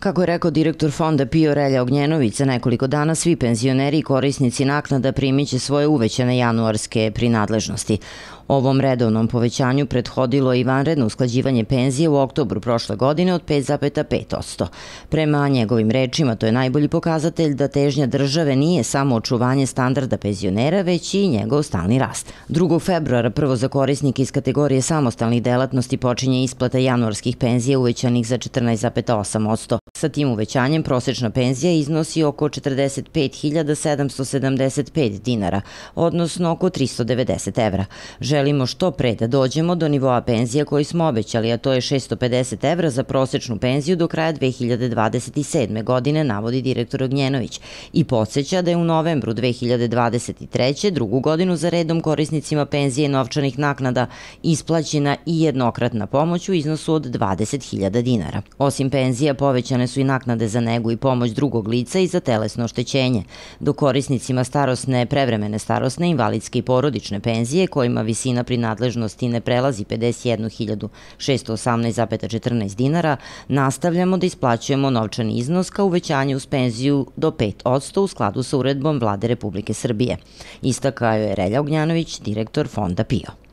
Kako je rekao direktor fonda PIO Relja Ognjenović, za nekoliko dana svi penzioneri i korisnici naknada primiće svoje uvećane januarske prinadležnosti. Ovom redovnom povećanju prethodilo i vanredno usklađivanje penzije u oktobru prošle godine od 5,5%. Prema njegovim rečima, to je najbolji pokazatelj da težnja države nije samo očuvanje standarda penzionera, već i njegov stalni rast. 2. februara prvo za korisnike iz kategorije samostalnih delatnosti počinje isplata januarskih penzija uvećanih za 14,8%. Sa tim uvećanjem prosečna penzija iznosi oko 45.775 dinara, odnosno oko 390 evra. Želimo što pre da dođemo do nivoa penzija koji smo obećali, a to je 650 evra za prosečnu penziju do kraja 2027. godine, navodi direktor Ognjenović, i podsjeća da je u novembru 2023. drugu godinu za redom korisnicima penzije novčanih naknada isplaćena i jednokratna pomoć u iznosu od 20.000 dinara. Osim penzija, povećane su i naknade za negu i pomoć drugog lica i za telesno oštećenje, dok korisnicima starosne, prevremene starosne, invalidske i porodične penzije, kojima visina prinadležnosti ne prelazi 51.618,14 dinara, nastavljamo da isplaćujemo novčani iznos kao uvećanje uz penziju do 5% u skladu sa uredbom Vlade Republike Srbije. Istakao je Relja Ognjanović, direktor fonda PIO.